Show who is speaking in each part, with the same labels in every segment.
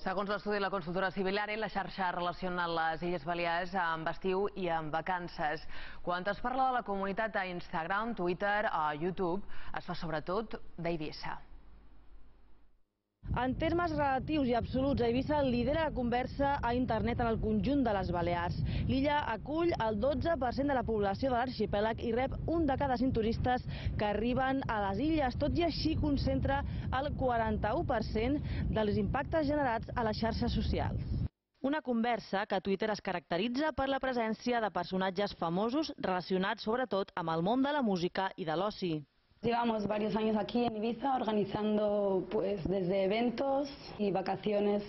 Speaker 1: Segons l'estudi de la consultora Civilare, la xarxa relaciona les Illes Balears amb estiu i amb vacances. Quan es parla de la comunitat a Instagram, Twitter o YouTube, es fa sobretot d'Eivissa.
Speaker 2: En termes relatius i absoluts, Eivissa lidera la conversa a internet en el conjunt de les Balears. L'illa acull el 12% de la població de l'arxipèlag i rep un de cada 5 turistes que arriben a les illes. Tot i així concentra el 41% dels impactes generats a les xarxes socials. Una conversa que a Twitter es caracteritza per la presència de personatges famosos relacionats sobretot amb el món de la música i de l'oci.
Speaker 3: Llevamos varios años aquí en Ibiza organizando desde eventos y vacaciones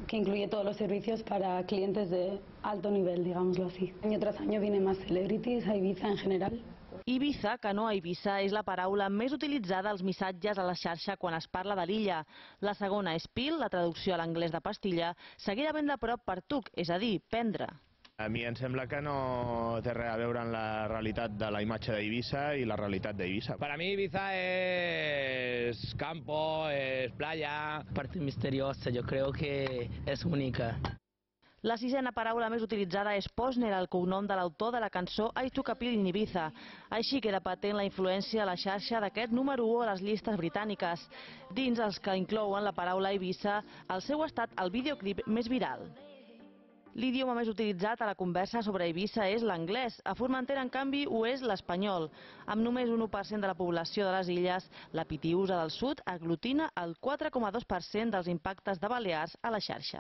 Speaker 3: que incluye todos los servicios para clientes de alto nivel, digámoslo así. Año tras año vienen más celebrities a Ibiza en general.
Speaker 2: Ibiza, que no Eivissa, és la paraula més utilitzada als missatges a la xarxa quan es parla de l'illa. La segona és pill, la traducció a l'anglès de pastilla, seguida ben de prop per tuc, és a dir, prendre.
Speaker 4: A mi em sembla que no té res a veure amb la realitat de la imatge d'Eivissa i la realitat d'Eivissa.
Speaker 5: Para mí Ibiza es campo, es playa. Parte misteriosa, yo creo que es única.
Speaker 2: La sisena paraula més utilitzada és Posner, el cognom de l'autor de la cançó I Took a Pill in Ibiza. Així queda patent la influència a la xarxa d'aquest número 1 a les llistes britàniques. Dins els que inclouen la paraula Eivissa, el seu ha estat el videoclip més viral. L'idioma més utilitzat a la conversa sobre Eivissa és l'anglès. A Formentera, en canvi, ho és l'espanyol. Amb només un 1% de la població de les illes, la Pitiüsa del Sud aglutina el 4,2% dels impactes de Balears a la xarxa.